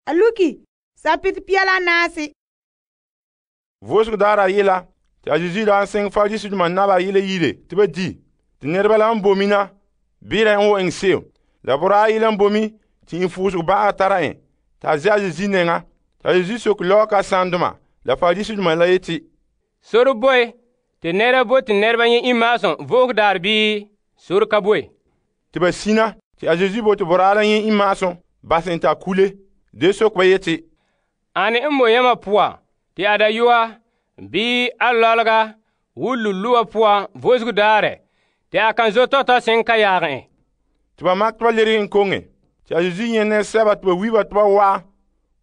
A luki sapetɛ pia la naase. Vo'osego daarɛ ayela te a Yesu daa seŋɛ Pariseedoma naba ayela yire te ba di. Te nɛreba la n boe na beera n wan eŋɛ se'em. La boraa ayela n boe te iŋfugusego ba'aga tara en te a ze' a Yesu nɛŋa. Te a Yesu soke lɔgɔkasanedoma la Pariseedoma la yeti, Sore boe te nɛra bote nɛreba nyɛ iŋmaasum vo'oge daarɛ bii sore ka boe? Te ba sina te a Yesu bote boraa la nyɛ iŋmaasum basɛ en te a kule. De soke ba yeti, Ane n boe yamam poan te a dayɔa bii a lɔlega wo luluwa poan vo'osego daarɛ te a kan zo tɔtɔ seŋ ka yaagɛ en? te ba makɛ te ba lerege en koŋe. Te a Yesu nyɛ nɛresɛba te ba wi ba te ba wa'a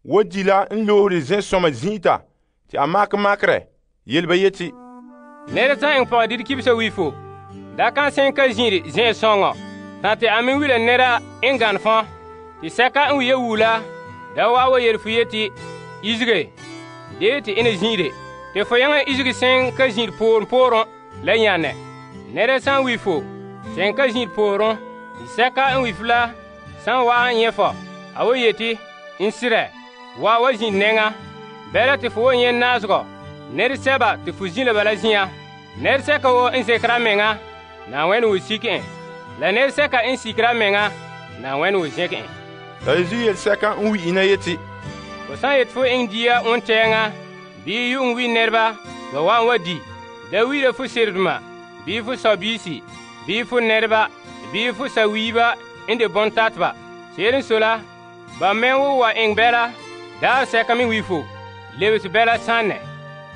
wo di la n loore zensɔma zin'ita te a makɛ makerɛ yele ba yeti, Nɛra san eŋɛ pɔgɔdire kibisa wi fo, da kan seŋ ka zin'ire zen'an sɔŋɔ. Tan te a me wi la nɛra n gane fɔn, te sɛka n wi ya wu la da wa'a wa yele fo yeti, Isege, dee te ena zin'ire. Te fo yaŋa isege seŋ ka zin'ire pooren la nyanɛ. Nɛra san wi fo, seŋ ka zin'ire pooren, te sɛka n wi fo la san wa'a n nyɛ fɔ, a wa yeti, N sirɛ, wa zin'ire nɛŋa. Bɛla te fo wa nyɛ naasegɔ nɛresɛba te fo zin' la ba la zin'an. Nɛresɛka woo n zekera a meŋa, Na'ayenɛ wo sike en. La nɛresɛka n sikera a meŋa, Na'ayenɛ wo zɛnkɛ en. La Yesu yelesɛka n wi ina yeti, Fo san yeti fo eŋɛ dia wontɛɛŋa bii yu'uŋ wi nɛreba ba wa'an wa di, da wi'ira fo seredoma bii fo sɔbiisi bii fo nɛreba bii fo sawiiba n de bontateba. Se'ere n sɔe la, ba mɛ wo wa eŋɛ bɛla daarɛ sɛka me wi fo, lebese bɛla sanɛ.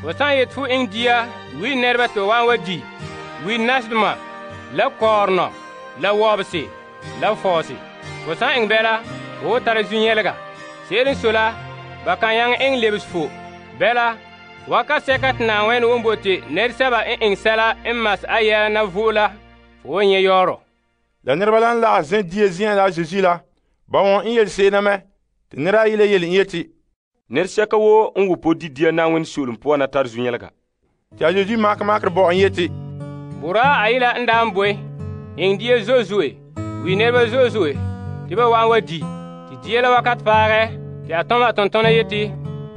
Fo san yeti fo eŋɛ dia wi nɛreba te ba wa'an wa di, wi nasedoma la kɔɔrenɔ la wɔbese la fɔɔse. Fo san eŋɛ bɛla, fo wo tara zu-nyɛlega. Se'ere n sɔe la, ba kan yaŋɛ eŋɛ lebese fo. Bɛla, wakat sɛka te Na'ayenɛ won bote nɛresɛba n eŋɛ sɛla n mas a yɛla na vo'e la, fo wan nyɛ yɔɔrɔ. La nɛreba la n lagahɛ zɛn dia zen'an la a Yesu la, ba wɔn n yele se'em na mɛ. Te nɛra ayela yele n yeti, Nɛresɛka woo n wo po di dia Na'ayenɛ soolem poan na tare zu-nyɛlega. te a Yesu makɛ makerɛ bo en yeti, Boraa ayela n daa n boe, eŋɛ dia zo'e zo'e, wi nɛreba zo'e zo'e, te ba wa'an wa di. Te dia la wakat paagɛ, te a tɔma a tontɔna yeti,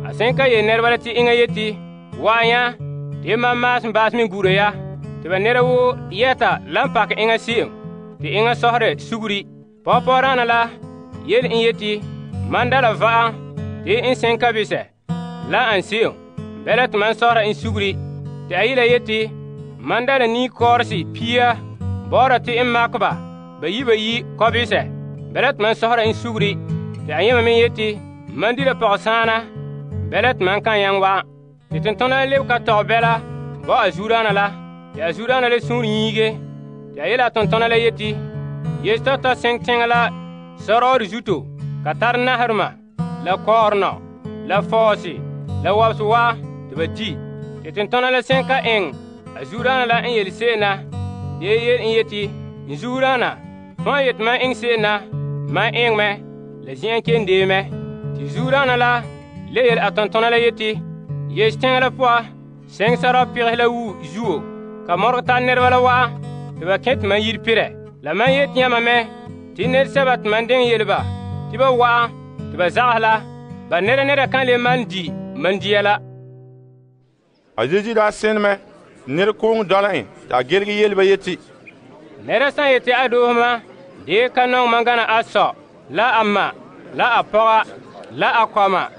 a seŋ ka yele nɛreba la te eŋa yeti, Wa'an ya, te mam maasem baasem n gura ya. Te ba nɛra woo yɛta lan pakɛ eŋa se'em, te eŋa sɔherɛ suguri. Pɔgɔpɔgɔdaana la yele n yeti, Man da la va'am te n seŋ ka besɛ la an se'em, bɛla te man sɔhera n suguri. Te a yela yeti, Man da la ni-kɔɔresi pia bɔ'ɔra te n makɛ ba bayi kɔbesɛ, bɛla te man sɔhera n suguri. Te a yẽma me yeti, Man di la pɔgɔsaana, bɛla te man kan yaŋ wa'an. Te tontona la lebe ka tɔgɛ bɛla bo a zuodaana la. Te a zuodaana la suunre nyiige. Te a yela a tontona la yeti, Yesu tɔtɔ seŋ teŋa la sɔrɔɔre zuto, ka tare naherema, la kɔɔrenɔ, la fɔɔse, la wɔbese wa te ba di. Te tontona la seŋ ka eŋɛ a zuodaana la n yele se'em na, de yele n yeti, N zuodaana, fãa yeti mam eŋɛ se'em na, mam eŋɛ mɛ, la zen'an kelum dee mɛ. Te zuodaana la le yele a tontona la yeti, Yesu teŋa la poa, seŋ sarɔɔ pegese la wu zuo, ka mɔregɛ tare nɛreba la wa'a, te ba kẽ te man yire perɛ. La man yeti yãmba mɛ, te nɛresɛba te man deŋɛ yele ba, te ba wa'an, te ba zagahɛ la, ba nɛra kan le man di man dia la. A Yesu daa sẽne mɛ, nɛra kooŋ dɔla en, te a gelege yele ba yeti, Nɛra san yeti a doosema, dee ka nɔŋɛ man gana a sɔ, la a ma, la a pɔga, la a kɔma,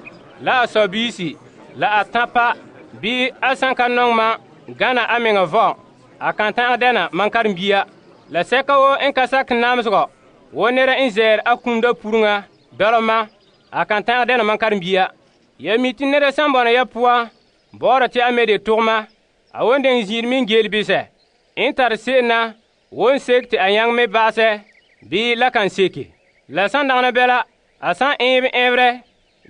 la a sɔbiisi, la a tãpa, bii a san ka nɔŋɛ man gana a meŋa vɔ, a kan ta'an dɛna man karen-bia. La sɛka woo n ka sakɛ namesegɔ, wo nɛra n zɛɛre a kumda puruŋa dɔlema, a kan ta'an dɛna man karen-bia. Ya mi te nɛra san bɔna ya poan, bɔ'ɔra te a me de togema, a won deŋ ziir min geel bisɛ, n tare se'em na, won sek te a nyaŋ me ba'asɛ, bii la kan seke. La san dagana bɛla, a san eebe ɛɛberɛ,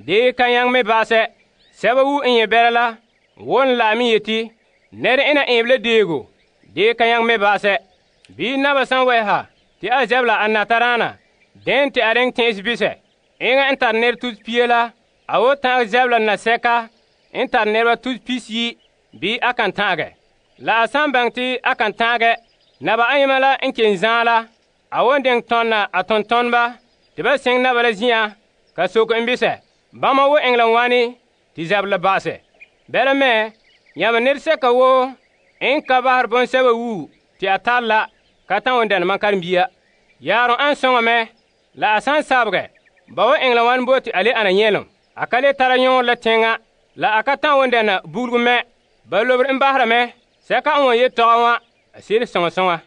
dee ka nyaŋ me ba'asɛ. Sɛba wu n nyɛ bɛla la, won la'am yeti, nɛra ena eebe la deego, dee ka nyaŋ me ba'asɛ. Bii naba san wɛsa, te a zɛbla a nataraana, dẽn te a reŋ tẽ'es bisɛ. Eŋa n tare nɛra tus pia la, a wo ta'am zɛbla nasɛka n tare nɛreba tus pisiyi, bii a kan ta'agɛ. La a san baŋɛ te a kan ta'agɛ, naba ayema la n ken zãa la, a won deŋ tɔnna a tontɔnba, te ba seŋ naba la zin'an, ka soke n bisɛ. Bama wo eŋɛ la wane te zaberɛ ba'asɛ. Bala me, yãmɛ nɛresɛka woo n ka bahere bɔŋsɛba wuo te a tare la ka ta'an won dɛna mam karen-bia. Yaarom an soŋa mɛ, la a san sabegɛ, ba wan eŋɛ la wane bo te a le ana nyɛlom. A ka le tara yɔɔrɔ la teŋa, la a ka ta'an won dɛna buguru mɛ. Ba lobere n bahera mɛ sɛka n wan yetɔgom wa a se'ere soŋa soŋa.